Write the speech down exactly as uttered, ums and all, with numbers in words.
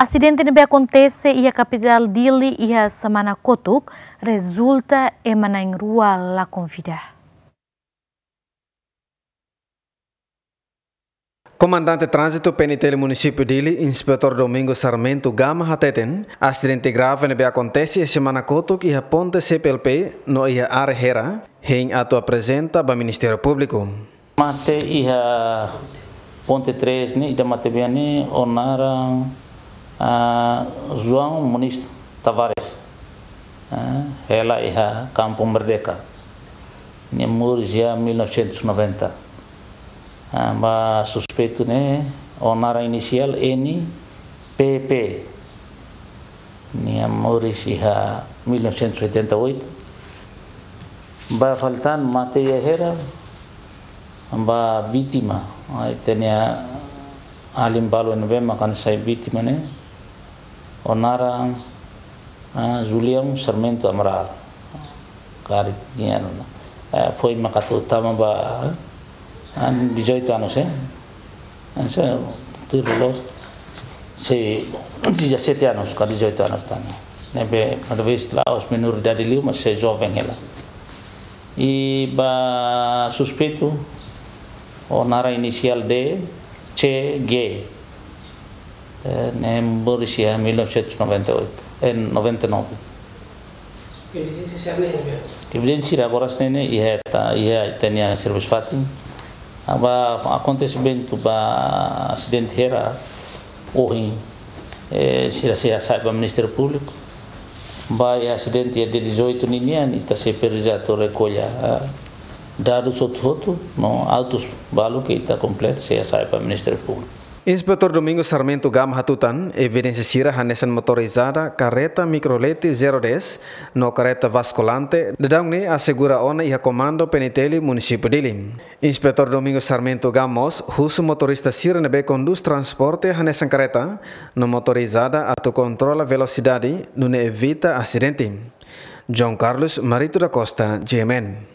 Asidente ne'ebé akontese iha kapitál Dili iha semana kotuk rezulta ema na'in-rua lakon vida. Komandante Tránzitu P N T L Munisípiu Dili, Inspetór Domingos Sarmento Gama hateten, asidente grave ne'ebé akontese iha semana kotuk iha ponte C P L P no iha área Hera, hein atu aprezenta ba Ministériu Públiku. Mate iha ponte três ne'e, ida mate-bian ne'e, ó naran, ah, João Muniz Tavares. Ah, hela iha Kampung Merdeka. Nia moris iha mil novecentos e noventa. Ah, ba suspeitu ne'e, ó naran inisiál N P P. Nia moris iha mil novecentos e oitenta e oito. Ba fali tan mate iha Hera, ba vítima, ah, ita-nia alin balu ne'ebé mak hanesan sai vítima ne'e, ó naran, ah, Julião Sarmento Amaral. Karik nia, eh, foin mak atu tama ba, ah, dezoito anos, eh? Hanesan, tuir loloos, sei dezassete anos ka dezoito anos tan. Ne'ebé, talvés la'ós menoridade liu, mas sei joven hela. I ba suspeitu, ó naran inisiál D C G. Eh, ne'e moris iha mil novecentos e noventa e oito, eh, noventa e nove. Evidénsia sira-ne'e, ne'e? Evidénsia sira agora ne'e, ne'e, iha ita, iha ita-nia servisu fatin. Ah, ba akontesimentu ba asidente Hera, ohin, eh, sira sei hasa'e ba Ministériu Públiku. Ba iha asidente iha dia dezoito ninian, ita sei presiza atu rekolla, ah, dadus hotu-hotu, no autus balu ke ita kompleta sei hasa'e ba Ministériu Públiku. Inspetór Domingos Sarmento Gama hatutan, evidénsia sira hanesan motorizada karreta mikrolete zero dez no karreta baskulante, daudaun ne'e asegura ona iha komandu P N T L Munisípiu Dili. Inspetór Domingos Sarmento Gama mós husu motorista sira ne'ebé kondús transporte hanesan karreta no motorizada atu kontrola velosidade, nune'e evita asidente. João Carlos Marito da Costa, G M N.